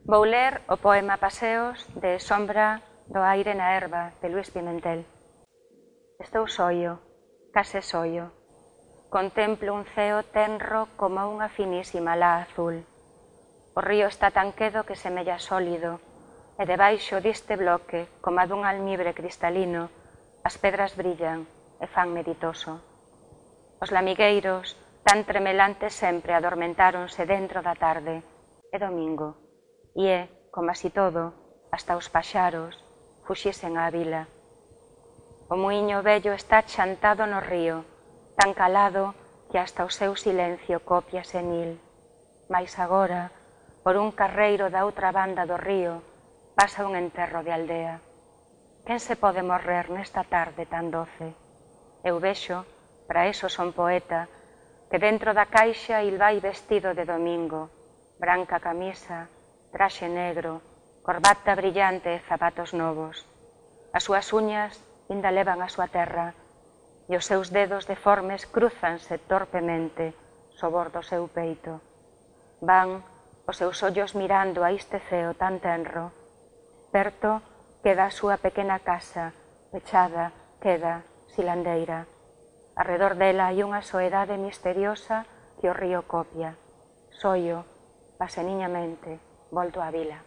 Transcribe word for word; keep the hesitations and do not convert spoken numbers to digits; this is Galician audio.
Vou ler o poema Paseos de Sombra do aire na herba, de Luis Pimentel. Estou soio, case soio. Contemplo un ceo tenro como unha finísima lá azul. O río está tan quedo que semella sólido, e debaixo diste bloque, como a dun almibre cristalino, as pedras brillan e fan meditoso. Os lamigueiros, tan tremelantes sempre, adormentáronse dentro da tarde. É domingo, e é, como así todo, hasta os paxaros, fuxisen á vila. O muiño vello está chantado no río, tan calado que hasta o seu silencio copia senil. Mais agora, por un carreiro da outra banda do río, pasa un enterro de aldea. Quen se pode morrer nesta tarde tan doce? Eu vexo, para eso son poeta, que dentro da caixa il vai vestido de domingo, branca camisa, traxe negro, corbata brillante e zapatos novos. As súas uñas inda levan a súa terra, e os seus dedos deformes crúzanse torpemente sobor do seu peito. Van os seus ollos mirando a este ceo tan tenro. Perto queda a súa pequena casa, pechada, queda, silandeira. Arredor dela hai unha soedade misteriosa que o río copia. Soio, paseniñamente, volto á vila.